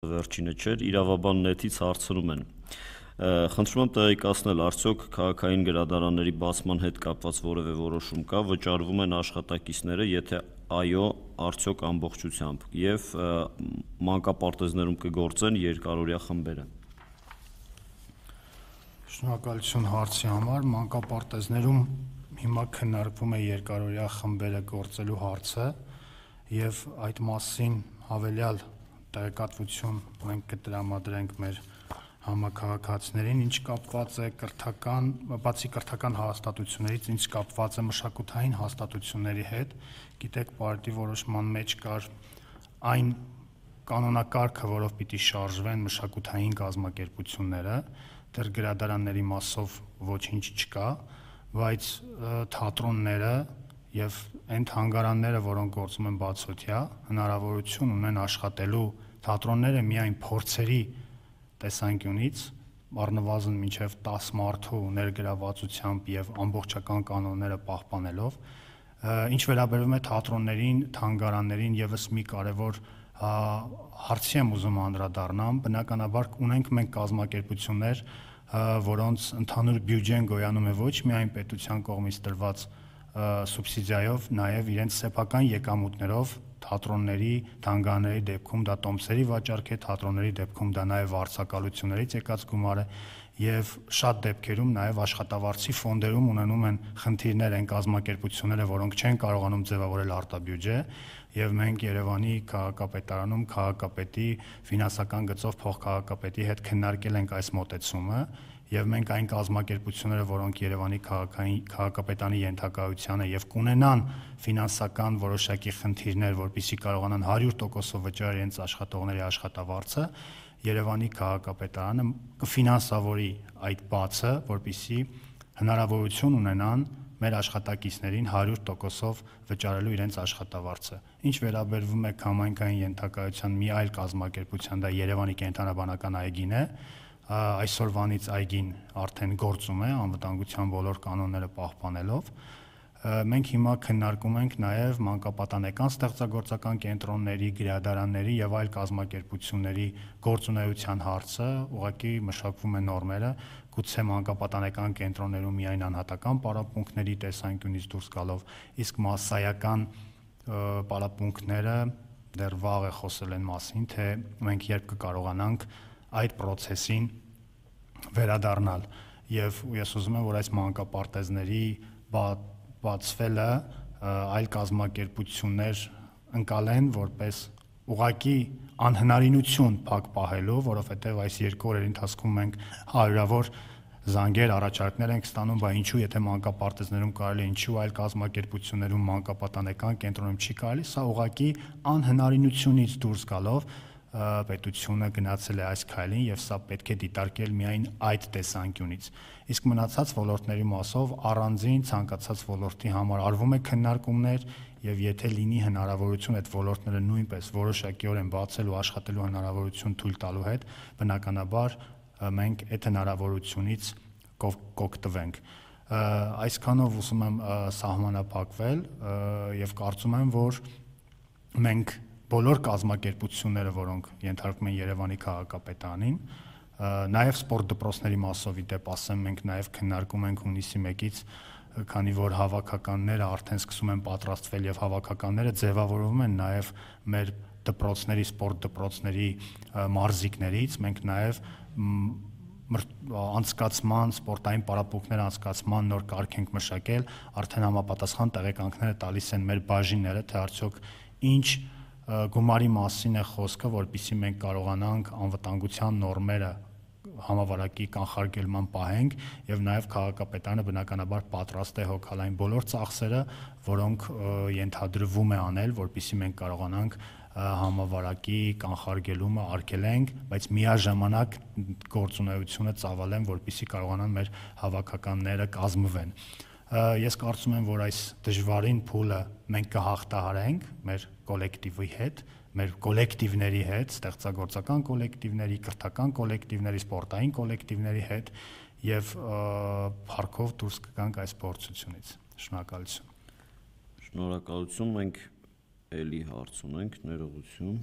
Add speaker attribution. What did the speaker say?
Speaker 1: Վերջինը չէր, իրավաբան նետից հարցնում են. խնդրում եմ տեղեկացնել, արդյոք քաղաքային գրադարանների բացման հետ կապված որևէ որոշում կա, վճարվում են աշխատակիցները, եթե այո, արդյոք ամբողջությամբ, եւ մանկապարտեզներում կգործեն երկարօրյա խմբերը։
Speaker 2: Շնորհակալություն հարցի համար, մանկապարտեզներում հիմա քննարկվում է երկարօրյա խմբերը գործելու հարցը եւ այդ մասին հավելյալ տեղեկատվություն մենք կտրամադրենք մեր համակարգացիներին, ինչ կապված է բացի կրթական հաստատություններից, ինչ կապված է մշակութային հաստատությունների հետ, գիտեք, պարտի որոշման մեջ կար այն կանոնակարգը, որով պիտի շարժվեն մշակութային կազմակերպությունները, դեռ գրադարանների մասով ոչինչ չկա, բայց թատրոնները եւ այն թանգարանները, որոնք գործում են բացօթյա, հնարավորություն ունեն աշխատելու թատրոնները միայն փորձերի տեսանկյունից, առնվազն մինչև 10 մարդու ներգրավվածությամբ եւ ամբողջական կանոնները պահպանելով, ինչ վերաբերում է թատրոններին, թանգարաններին, եւս մի կարեւոր հարցի եմ ուզում անդրադառնամ, բնականաբար ունենք մենք կազմակերպություններ, որոնց ընդհանուր բյուջեն գոյանում է ոչ միայն պետության կողմից տրված սուբսիդիայով, նաեւ իրենց սեփական եկամուտներով թատրոնների, թանգարանների դեպքում դա տոմսերի վաճառք է, թատրոնների դեպքում դա նաեւ վարձակալություններից եկած գումար է եւ շատ դեպքերում նաեւ աշխատավարձի ֆոնդերում ունենում են խնդիրներ այն կազմակերպությունները, որոնք չեն կարողանում ձևավորել արտաբյուջե եւ մենք Երևանի քաղաքապետարանում քաղաքապետի ֆինանսական գծով փոխքաղաքապետի հետ քննարկել ենք այս մոտեցումը եւ մենք այն կազմակերպությունները, որոնք Երևանի քաղաքապետանի ենթակայությանը եւ կունենան ֆինանսական որոշակի խնդիրներ, որպեսզի կարողանան 100%-ով վճարել իրենց աշխատողների աշխատավարձը, Երևանի քաղաքապետարանը կֆինանսավորի այդ բացը, որպեսզի հնարավորություն ունենան մեր աշխատակիցներին 100%-ով վճարելու իրենց աշխատավարձը։ Ինչ վերաբերվում է համայնքային ենթակայության մի այլ կազմակերպության, դա Երևանի կենտրոնաբանական այգին է, այսօրվանից այգին արդեն գործում է անվտանգության բոլոր կանոնները պահպանելով։ Մենք հիմա քննարկում ենք նաև մանկապատանեկան ստեղծագործական կենտրոնների, գրադարանների եւ այլ կազմակերպությունների գործունեության հարցը, ուղղակի մշակվում են նորմերը, գուցե մանկապատանեկան կենտրոններում միայն անհատական պարապմունքների տեսանկյունից դուրս գալով, իսկ մասսայական պարապմունքները դեռ վաղ է խոսել են մասին, թե մենք երբ կկարողանանք այդ process-ին վերադառնալ եւ ես ուզում եմ, որ այս մանկապարտեզների բացվելը այլ կազմակերպություններ ընկալեն որպես ուղղակի անհնարինություն փակ պահելու, որովհետեւ այս 2 օրերի ընթացքում մենք հարյուրավոր զանգեր, առաջարկներ ենք ստանում, բայց ինչու եթե մանկապարտեզներում կարելի է, ինչու այլ կազմակերպություններում մանկապատանեկան կենտրոնում չի կարելի, սա ուղղակի անհնարինությունից դուրս գալով պետությունը գնացել է այս քայլին եւ սա պետք է դիտարկել միայն այդ տեսանկյունից։ Իսկ մնացած ոլորտների մասով առանձին ցանկացած ոլորտի համար արվում է քննարկումներ եւ եթե լինի հնարավորություն այդ ոլորտները նույնպես որոշակիորեն բացելու աշխատելու հնարավորություն թույլ տալու հետ, բնականաբար մենք այդ հնարավորությունից կօգտվենք։ Այսքանով ուզում եմ սահմանափակվել եւ կարծում եմ, որ մենք բոլոր կազմակերպությունները, որոնք ենթարկվում են Երևանի քաղաքապետարանին, նաև սպորտ դպրոցների մասով ի դեպ ասեմ, մենք նաև քննարկում ենք հունիսի 1-ից, քանի որ հավաքականները արդեն սկսում են պատրաստվել եւ հավաքականները ձևավորվում են նաև մեր դպրոցների, սպորտ դպրոցների մարզիկներից, մենք նաև անցկացման, սպորտային պարապմունքներ անցկացման նոր կարգ ենք մշակել, արդեն համապատասխան տեղեկանքները տալիս են մեր բաժինները, թե արդյոք ինչ գումարի մասին է խոսքը, որպեսզի մենք կարողանանք անվտանգության նորմերը համավարակի կանխարգելման պահենք եւ նաեւ քաղաքապետարանը բնականաբար պատրաստ է հոգալ այն բոլոր ծախսերը, որոնք ենթադրվում է անել, որպեսզի մենք կարողանանք համավարակի կանխարգելումը արգելենք, բայց միաժամանակ գործունեությունը ծավալեն, որպեսզի կարողանան մեր հավաքականները կազմվեն։ Ես կարծում եմ, որ այս դժվարին փուլը մենք կհաղթահարենք մեր կոլեկտիվի հետ, մեր կոլեկտիվների հետ, ստեղծագործական կոլեկտիվների, կրթական կոլեկտիվների, սպորտային կոլեկտիվների հետ եւ փառքով դուրս կգանք այս փորձությունից։ Շնորհակալություն։
Speaker 1: Շնորհակալություն, մենք էլի հարց ունենք, ներողություն։